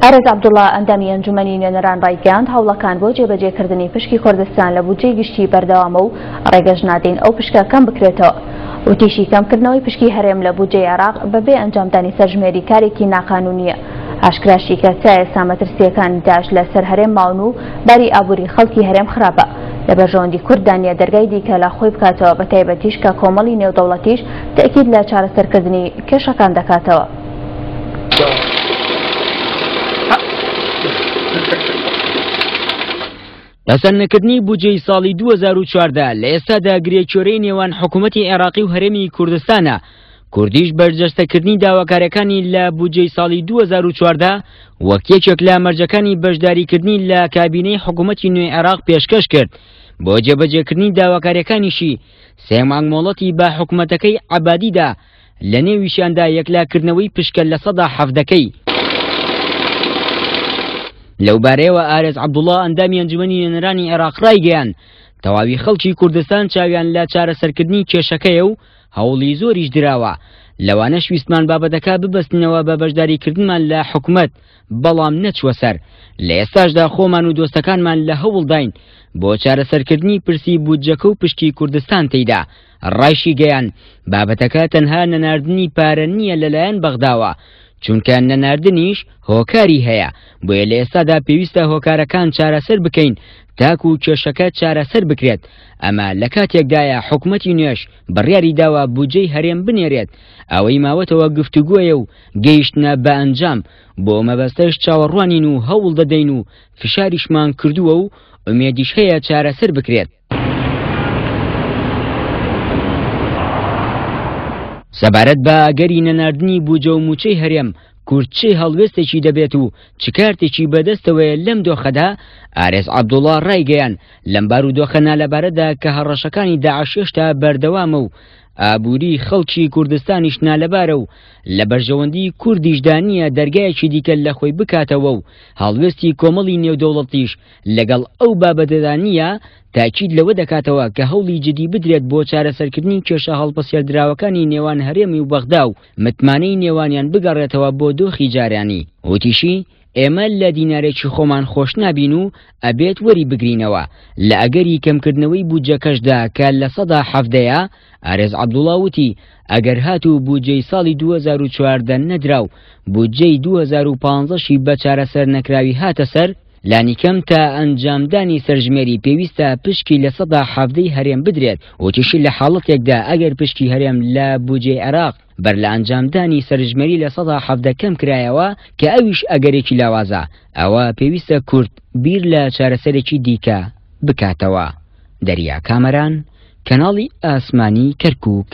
ئارێز عەبدوڵا ئەندامی ئەنجومەنی نوێنەران ڕایگەیاند، هەوڵەکان بۆ جێبەجێکردنی پشکی کوردستان لە بودجەی گشتی بەردەوامە و ڕێگەش نادەین ئەو پشکە کەم بکرێتەوە. وتیشی، کەمکردنەوەی پشکی هەرێم لە بودجەی عێراق بەبێ ئەنجامدانی سەرژمێری کارێکی ناقانونییە. ئاشکراشی کرد، تا ئێستا مەترسییەکانی داعش لەسەر هەرێم ماون و باری ئابووری خەڵکی هەرێم خراپە. لە بەرژەوەندی کورددا نییە دەرگای دیکە لە خۆی بکاتەوە، بەتایبەتیش کە کۆمەڵی نێودەوڵەتیش تەئکید لە چارەسەرکردنی کێشەکان دەکاتەوە. پەسەندنەکردنی بودجەی ساڵی 2014 لە ئێستادا گرێکوێرەی نێوان حکوومەتی عێراقی و هەرێمی کوردستانە، کوردیش بەرجەستەکردنی داواکاریەکانی لە بودجەی ساڵی 2014 وەک یەکێک لە مەرجەکانی بەشداریکردنی لە کابینەی حکوومەتی نوێی عێراق پێشکەش کرد بۆ جێبەجێکردنی داواکاریەکانیشی سێ مانگ مۆڵەتی بە حکوومەتەکەی عەبادیدا لە نێویشیاندا یەکلاکردنەوەی پشکە 17%ەکەی. لەوبارەیەوە ئارێز عەبدوڵا ئەندامی ئەنجومەنی نوێنەرانی عێراق ڕایگەیاند، تەواوی خەڵکی کوردستان چاویان لە چارەسەرکردنی کێشەکەیە و هەوڵی زۆریش دراوە، لەوانەش ویستمان بابەتەکە ببەستنەوە بە بەشداریکردنمان لە حکومەت، بەڵام نەچووە سەر، لە ئێستاشدا خۆمان و دۆستەکانمان لە هەوڵداین بۆ چارەسەرکردنی پرسی بودجەکە و پشکی کوردستان تێیدا. ڕایشیگەیاند، بابەتەکە تەنها نەناردنی پارە نییە لەلایەن بەغداوە، چونکە نەناردنیش هۆکاری هەیە، بۆیە لە ئێستادا پێویستە هۆکارەکان چارەسەر بکەین تاکو کێشەکە چارەسەر بکرێت، ئەمە لە کاتێکدایە حکومەتی نوێش بڕیاری داوە بودجەی هەرێم بنێرێت، ئەوەی ماوەتەوە گفتوگۆیە و گەیشتنە بە ئەنجام، بۆ مەبەستەش چاوەڕوانین و هەوڵ دەدەین و فشاریشمان کردووە و ئومێدیش هەیە چارەسەر بکرێت. سەبارەت بە ئەگەری نەناردنی بوجە و مووچەی هەرێم، کورد چ هەڵوێستێکی دەبێت و چ کارتێکی بەدەستەوەیە لەم دۆخەدا، ئارێز عەبدوڵا ڕایگەیاند، لەم بارودۆخە نالەبارەدا کە هەڕەشەکانی داعش هێشتا بەردەوامە و ئابووری خەڵکی کوردستانیش نالەبارە و لە بەرژەوەندی کوردیشدا نییە دەرگایەکی دیکە لە خۆی بکاتەوە و هەڵوێستی کۆمەڵی نێودەوڵەتیش لەگەڵ ئەو بابەتەدا نییە، تاکید لەوە دەکاتەوە کە هەوڵی جدی بدرێت بۆ چارەسەرکردنی کێشە هەڵپەسێردراوەکانی نێوان هەرێمی و بەغدا و متمانەی نێوانیان بگەڕێتەوە بۆ دۆخی جارانی. وتیشی، ئێمە لە دینارێکی خۆمان خۆش نابین و ئەبێت وەری بگرینەوە، لە ئەگەری کەمکردنەوەی بودجەکەشدا کە 17%ە، ئارێز عەبدوڵا وتی، ئەگەر هاتوو بودجەی ساڵی 2014 نەدرا و بودجەی 2015 شی بە چارەسەرنەکراوی هاتە سەر، لانیکەم تا ئەنجامدانی سەرژمێری پێویستە پشکی 17% ی هەرێم بدرێت، وتیشی لە حاڵەتێکدا ئەگەر پشکی هەرێم لە بودجەی عێراق بەر لە ئەنجامدانی سەرژمێری 17% کەم کرایەوە کە ئەویش ئەگەرێکی لاوازە، ئەوا پێویستە کورد بیر لە چارەسەرێکی دیکە بکاتەوە. دەریا کامەران، کەناڵی ئاسمانی کەرکوک.